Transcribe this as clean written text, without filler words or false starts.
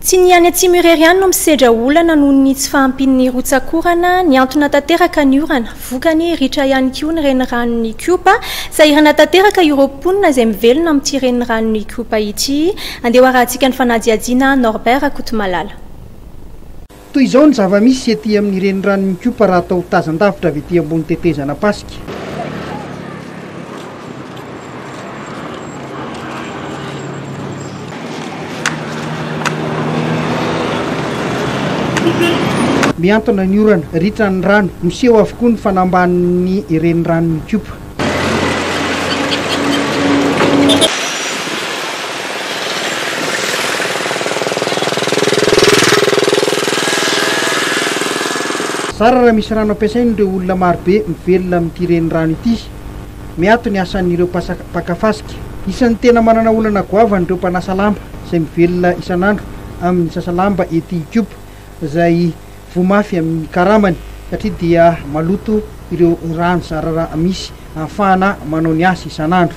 Tsy ny any atsimo irery ihany no misedra olana noho ny tsy fahampian'ny rotsak'orana, nihantona tanteraka ny orana. Vokany, ritra ihany koa ny reniranon'Ikopa. Sahirana tanteraka ireo mponina izay mivelona amin'ity reniranon'Ikopa ity. Andeha ho arahantsika ny fanadihadiana Norbert Rakotomalala. Toy izao ny zava-misy ety amin'ny reniranon'Ikopa raha atao tazan-davitra avy ety ambony tetezana Ampasika. Mihantona ny orana, ritra ny rano, miseho avokoa ny fanambanin'ny reniranon'Ikopa. Zara raha misy rano ampiasain'ireo olona marobe mivelona amin'ity renirano ity. Miato ny asan'ireo mpaka fasika. Isan'ny tena manana olana goavana ireo mpanasa lamba izay mivelona isan'andro amin'ny sasa lamba ety Ikopa izay voa mafy amin'ny karamany satria dia maloto ireo rano zara raha misy ahafahana manao ny asa isan'andro.